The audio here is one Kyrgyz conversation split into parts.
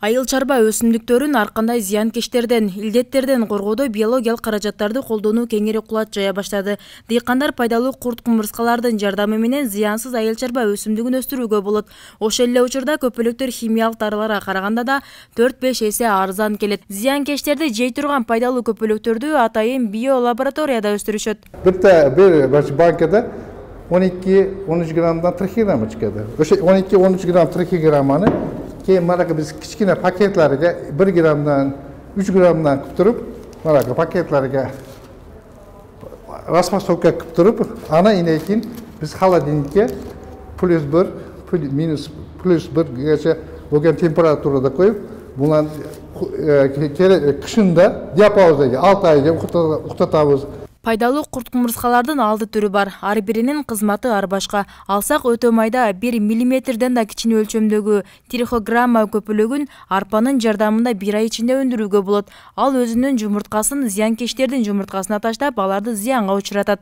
Айыл чарба өсүмдүктөрүн ар кандай зыянкечтерден, илдеттерден коргоодо биологиялык каражаттарды колдонуу кеңири кулат жая баштады. Дыйкандар пайдалуу курт-кумурскалардын жардамы менен зыянсыз айыл чарба өсүмдүгүн өстүрүүгө болот. Ошол эле учурда көпөлөктөр химиялык дарыларга караганда да 4-5 эсе арзан келет. Зыянкечтерди жей турган пайдалуу көпөлөктөрдү атайын биолабораторияда өстүрүшөт. Bir bankada 12-13 gramdan 40 gram çıkıyordu. Öşe 12-13 gram 40 gramını ki maraka biz kichkina paketlarga 1 gramdan 3 gramdan qilib maraka paketlarga rasmasovka qilib turib ana inekin biz холодильникке +1 gacha bo'lgan temperaturada qo'yib bulan qishында диапазонда 6 oyga uxtatamiz. Пайдалуу курт-кумурскалардын алты түрү бар. Ар биринин кызматы ар башка. Алсак өтө майда 1 миллиметрден да кичине өлчөмдөгү трихограмма көпөлөгүн арпанын жардамында 1 ай ичинде өндүрүүгө болот. Ал өзүнүн жумурткасын зыянкечтердин жумурткасына таштап, аларды зыянга учуратат.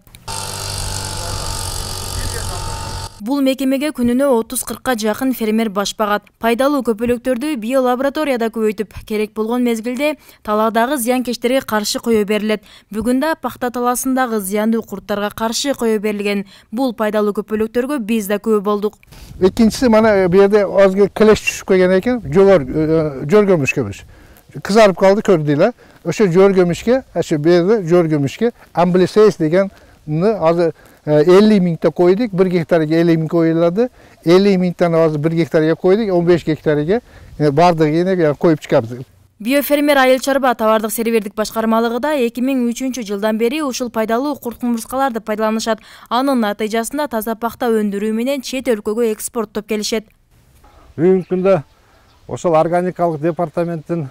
Бул мекемеге күнүнө 30-40 жакын фермер баш багат. Пайдалуу көпөлөктөрдү биолабораторияда көбөйтүп, керек болгон мезгилде талаадагы зыянкечтерге каршы кое берилет. Бүгүн да пахта талаасындагы зыяндуу курттарга каршы кое берилген. Бул пайдалуу көпөлөктөргө биз да күбө болдук. Экинчиси мана бу жерде азгы клеш түшүп койгон экен, жөргөмүшкөбүз. Кызарып калды көрдүйлөр. Ошо жөргөмүшкө, ошо бу жерде жөргөмүшкө амблисейс дегенни азыр 50 миңте койдук, 1 гектарга 50 миң коюлады. 50 миңтен азыр 1 гектарга койдук, 15 гектарга бардыгын коюп чыгабыз. Биофермер айыл чарба товардык серверлик башкармалыгы да 2003 жылдан бери ушул пайдалуу курт-кумурскаларды пайдаланышат. Анын натыйжасында таза пахта өндүрүү менен чет өлкөгө экспорттоп келишет. Бүгүнкү күндө ошол органикалык департаменттин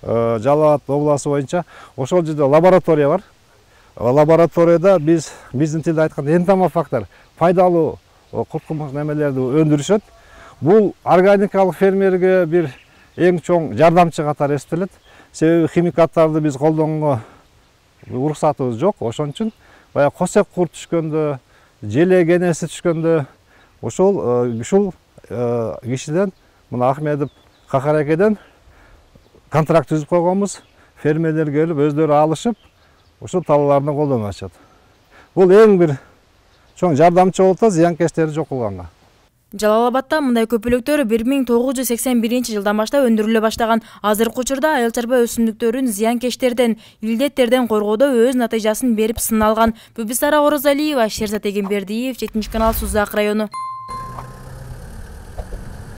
Жалал Абад областы боюнча ошол жерде лаборатория бар. Лабораторияда биздин тилде айтканда энтомофактар пайдалуу курт-кумурск немелерди өндүрүшөт. Бул органикалык фермерге бир эң чоң жардамчы катары эстелет. Себеби химикаттарды биз колдонууга уруксатыбыз жок. Ошон үчүн баягы косек курт түшкөндө, желе кенеси түшкөндө ушул кишиден, мына Ахмедов Кахар экеден контракт түзүп койгонбуз. Фермерлер келип өздөрү алышып, ошол талааларына колдонуп атышат. Бул эң бир чоң жардамчы болуп атат зыянкечтерди жок кылганга. Жалал Абадта мындай көпөлөктөр 1981 жылдан баштап өндүрүлө баштаган. Азыркы учурда айыл чарба өсүмдүктөрүн зыянкечтерден, илдеттерден коргоодо өз натыйжасын берип сыналган. Бүбүсара Орозалиева, Шерзат Эгембердиев, 7 канал Сузак району.